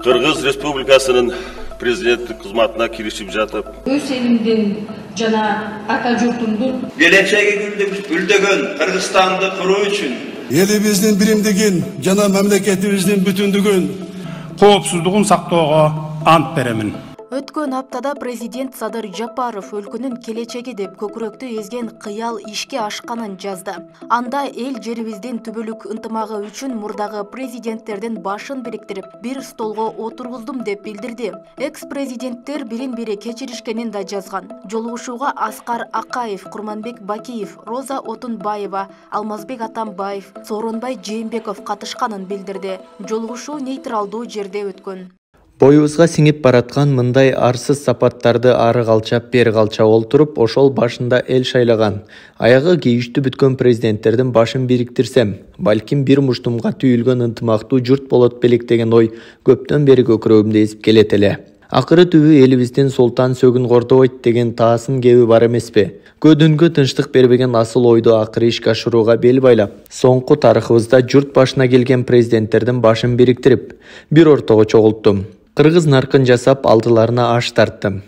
Кыргыз Республикасынын президенттик кызматына киришип жатып, өз элимдин жана ата журтумдун келечеги гүлдөгөн Кыргызстанды куруу үчүн элибиздин биримдигин жана мамлекетибиздин бүтүндүгүн, коопсуздугун сактоого ант беремин. Өткөн аптада президент Садыр Жапаров өлкөнүн келечеги деп көкүрөктү эзген кыял ишке ашканын жазды. Анда эл жерибиздин түбөлүк ынтымагы үчүн мурдагы президенттердин башын бириктирип, бир столго отургуздум деп билдирди. Экс-президенттер бирин-бири кечиришкенин да жазган. Жолугушууга Аскар Акаев, Курманбек Бакиев, Роза Отунбаева, Алмазбек Атамбаев, Сооронбай Жээнбеков катышканын билдирди. Жолугушуу нейтралдуу жерде өткөн. Боюбузга сиңип бараткан мындай арсыз сапаттарды ары калчап бери калчап олтуруп, ошол башында эл шайлаган, аягы кейиштүү бүткөн президенттердин башын бириктирсем, балким бир муштумга түйүлгөн ынтымактуу журт болот белек деген ой көптөн бери көкүрөгүмдө эзип келет эле. Акыры түбү элибиздин султан сөгүн кордобойт деген таасын кеби бар эмеспи? Көдөнгө тынчтык бербеген асыл ойду акыры ишке ашырууга бел байлап, соңку тарыхыбызда журт башына келген президенттердин башын бириктирип, бир ортого чогулттум. Кыргыз наркын жасап алдыларына аш тарттым.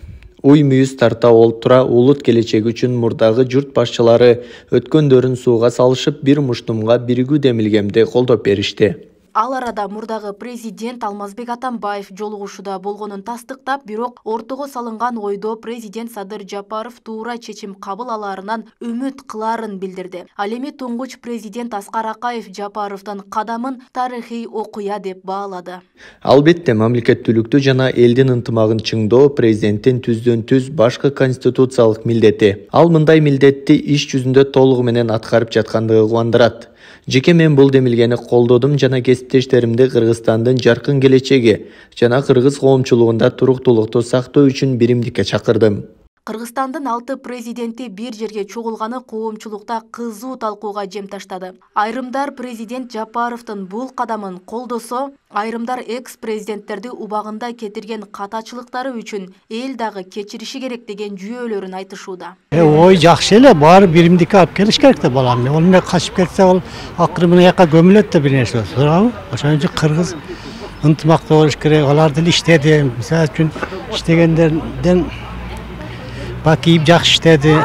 Уй мүйүз тарта олтура улут келечеги үчүн мурдагы журт башчылары өткөндөрүн сууга салышып, бир муштумга биригүү демилгемди колдоп беришти. Ал арада мурдагы президент Алмазбек Атамбаев жолугушууда болгонун тастыктап, бирок ортого салынган ойдо президент Садыр Жапаров туура чечим кабыл алаарынан үмүт кылаарын билдирди. Ал эми туңгуч президент Аскар Акаев Жапаровдун кадамын тарыхый окуя деп баалады. Албетте, мамлекеттүүлүктү жана элдин ынтымагын чыңдоо президенттин түздөн-түз башкы конституциялык милдети. Ал мындай милдетти иш жүзүндө толугу менен аткарып жаткандыгы кубандырат. Жеке мен бул демилгени колдодум жана кесиптештеримди Кыргызстандын жаркын келечеги жана кыргыз коомчулугунда туруктуулукту сактоо үчүн биримдикке чакырдым. Кыргызстандын 6 президенти бир жерге чогулганы коомчулукта кызуу талкууга жем таштады. Айрымдар президент Жапаровдун бул кадамын колдосо, айрымдар экс-президенттерди убагында кетирген катачылыктары үчүн эл дагы кечириши керек деген жүйөлөрүн айтышууда. Ой жакшы эле, баары биримдикке алып келиш керек да балам. Ал эмне качып кетсе, ал акыры мына жака көмүлөт да бир нерсе. Туурабы? Ошон үчүн кыргыз ынтымактуу болуш керек. Алар деле иштеди. Мисалы үчүн иштегендерден Бакиев жакшы иштеди.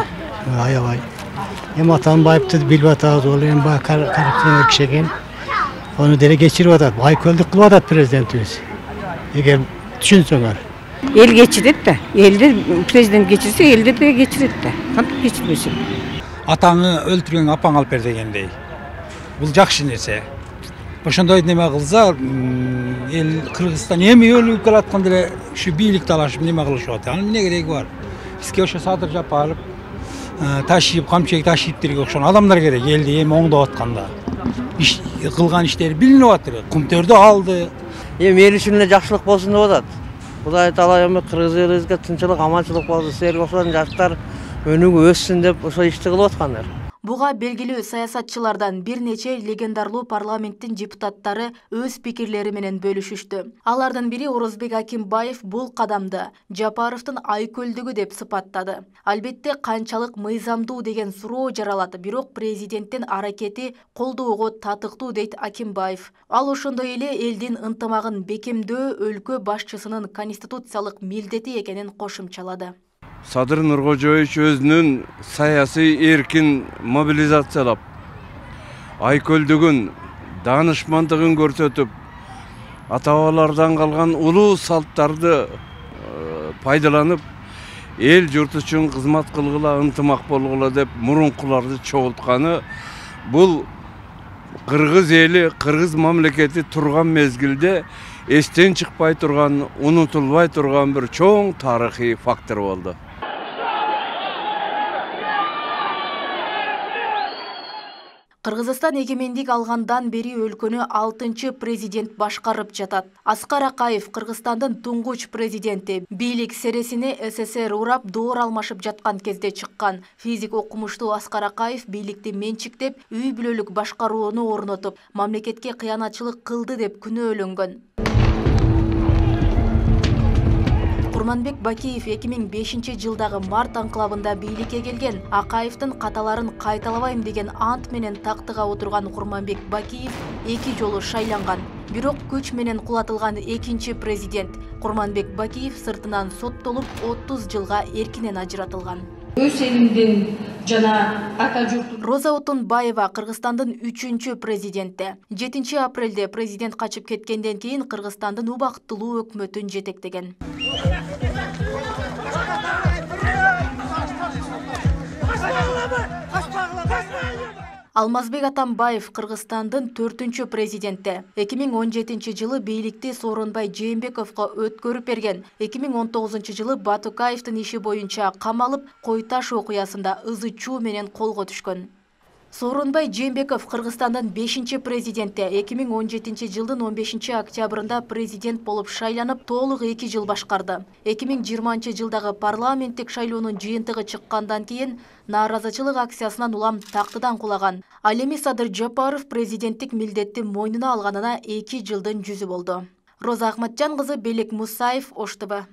Аябай. Эми Атамбаевди билип атабыз, ол эми коррупционер киши экен. Onu деле кечирип атат. Байкөлдүк кылып атат президентибиз. Эгер түшүнсөңөр. Эл кечирет да. Элди президент кечирсе, элди да кечирет да. Кантип кечирбесин? Атаңы өлтүргөн апаң алып бер дегендей. Бул жакшы нерсе. Ошондой неме кылса, эл Кыргызстан эми өлүп келатканда эле ушу бийлик талашып неме кылышып атат. Анын эмне кереги бар? Бизге ошо Садыр Жапаров ташип, камчек ташиптирге окшогон адамдар керек. Элди эми оңдоп атканда. Кылган иштери билинип атыр. Кумтөрдү алды. Эми эл үчүн эле жакшылык болсун деп атат. Кудай таала эми кыргыз элибизге тынчылык, аманчылык болсун, силерге окшогон жаштар өнүгүп өссүн деп ошо ишти кылып аткандар. Буга белгилүү саясатчылардан бир нече легендарлуу парламенттин депутаттары өз пикирлери менен бөлүшүштү. Алардын бири Орозбек Акимбаев бул кадамды Жапаровдун айкөлдүгү деп сыпаттады. Албетте канчалык мыйзамдуу деген суроо жаралат, бирок президенттин аракети колдоого татыктуу дейт Акимбаев. Ал ошондой эле элдин ынтымагын бекемдөө өлкө башчысынын конституциялык милдети экенин кошумчалады. Садыр Нуркожоевич өзүнүн саясий эркин мобилизациялап, айкөлдүгүн, данышмандыгын көрсөтүп, ата-бабалардан калган улуу салттарды пайдаланып, эл журт үчүн кызмат кылгыла, ынтымак болгула деп мурункуларды чогултканы бул кыргыз эли, кыргыз мамлекети турган мезгилде эстен чыкпай турган, унутулбай турган бир чоң тарыхый фактор болду. Кыргызстан эгемендик алгандан бери өлкөнү 6-чы президент башкарып жатат. Аскар Акаев Кыргызстандын туңгуч президенти. Бийлик сересине СССР урап доор алмашып жаткан кезде чыккан. Физик окумуштуу Аскар Акаев бийликти менчиктеп, үй бүлөлүк башкарууну орнотуп, мамлекетке кыянатчылык кылды деп күнөөлөнгөн. Курманбек Бакиев 2005-жылдагы март анклавында бийликке келген. Акаевдин каталарын кайталабайм деген ант менен тактыга отурган Курманбек Бакиев 2 жолу шайланган. Бирок күч менен кулатылган экинчи президент Курманбек Бакиев сыртынан соттолуп 30 жылга эркинен ажыратылган. Өз элимдин жана ата журтун. Роза Отунбаева Кыргызстандын 3-чү президенти. 7 апрелде президент качып кеткенден кийин Кыргызстандын убактылуу өкмөтүн жетектеген. Алмазбек Атамбаев Кыргызстандын 4-чү президенти. 2017 жылы бийликти Сооронбай Жээнбековго өткөрүп берген. 2019 жылы Батукаевдин иши боюнча камалып, Кой Таш окуясында ызы чуу менен колго түшкөн. Сооронбай Жээнбеков Кыргызстандын 5-чи президенти. 2017 жылдын 15 октябрында президент болуп шайланып, толук 2 жыл башкарды. 2020 жылдагы парламенттик шайлоонун жыйынтыгы чыккандан кийин нааразычылык акциясынан улам тактыдан кулаган. Ал эми Садыр Жапаров президенттик милдетти мойнуна алганына 2 жылдын жүзү болду. Роза Ахматжан кызы, Белек Мусаев, Ош ТВ.